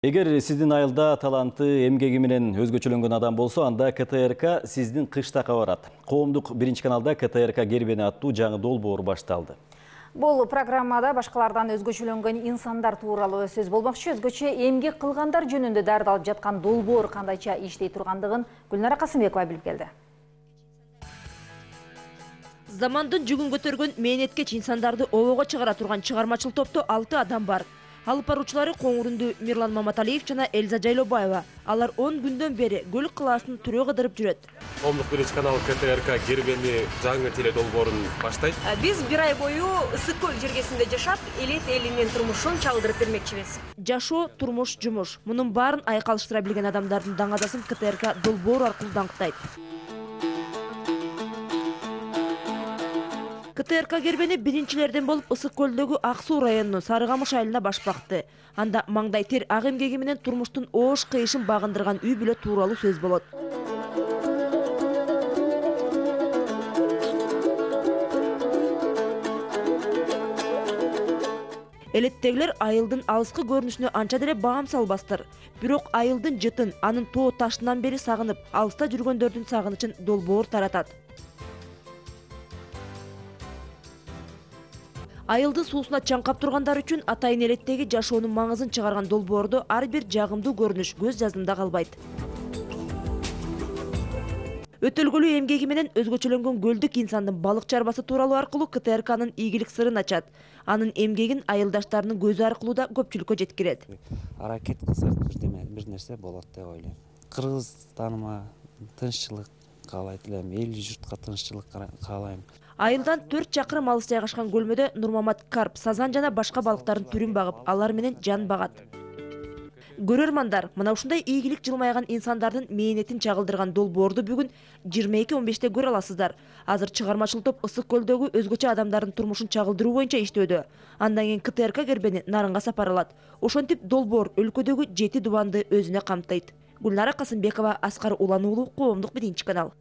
Эгер сиздин айылда таланты, эмгеги менен өзгөчөлөнгөн адам болсо, анда КТРК сиздин кыштакка барат. Коомдук биринчи каналда КТРК кербени аттуу жаңы долбоор башталды. Бул программада башкалардан өзгөчөлөнгөн инсандар тууралуу сөз болмокчу. Өзгөчө эмгек кылгандар жөнүндө дардалып жаткан долбоор кандайча иштей тургандыгын Гүлнара Касымбекова билип келди. Замандын жүгүн көтөргөн мээнеткеч инсандарды обого чыгара турган чыгармачыл топто 6 адам бар. Алып баруучулары Коңурунду Мирлан Маматалиев жана Элза Жайлобаева. Алар 10 күндөн бери Көлүк калаасын түрөө кыдырып жүрөт. Коомдук биринчи канал КТРК кербени жаңы теледолбоорун баштайт. Биз бир ай бою ысык көл жергесинде жашап, элет элинин турмушун чалдырып бермекчибиз. Жашоо, турмуш, жумуш. Мунун баарын айкалыштыра билген адамдардын даңадасын КТРК долбоор аркылуу даңктайт. КТРК кербени биринчилерден болуп Ысык көлдөгү Ак Суу районунун Сарыкамыш айылына баш бакты. Анда маңдай тер ак эмгеги менен турмуштун оош кыйышын багындырган үй бүлө тууралуу сөз болот. Элеттегилер айылдын алыскы көрүнүшүнө анча деле баам салбастыр. Бирок айылдын жытын, анын тоо ташынан бери сагынып, алыста жүргөндөрдүн сагынычын долбоор таратат. Айылдын суусуна чаңкап тургандар үчүн атайын элеттеги жашоонун маңызын чыгарган долбоордо ар бир жагымдуу көрүнүш көз жаздымда калбайт. Өтөлгөлүү эмгеги менен өзгөчөлөнгөн көлдүк инсандын балык чарбасы тууралуу аркылуу КТРКнын ийгилик сырын ачат. Анын эмгегин айылдаштарынын көзү аркылуу да көпчүлүккө жеткирет. Аракет кылсак бир нерсе болот деп ойлойм. Кыргызстаныма тынччылык каалайт элем, эл журтка тынччылык каалайм. Айылдан 4 чакырым алыс жайгашкан көлмөдө Нурмамат карп, сазан жана башка балыктардын түрүн багып, алар менен жан багат. Көрөрмандар, мына ушундай ийгилик жылмайган инсандардын мээнетин чагылдырган долбоорду бүгүн 22:15 көрө аласыздар. Азыр чыгармачыл топ Ысык көлдөгү өзгөчө адамдардын турмушун чагылдыруу боюнча иштөөдө. Андан кийин КТРК кербени Нарынга сапаралат. Ошентип долбоор өлкөдөгү 7 дубанды өзүнө камтыйт. Гүлнара Касымбекова, Аскар Улан уулу, Коомдук биринчи канал.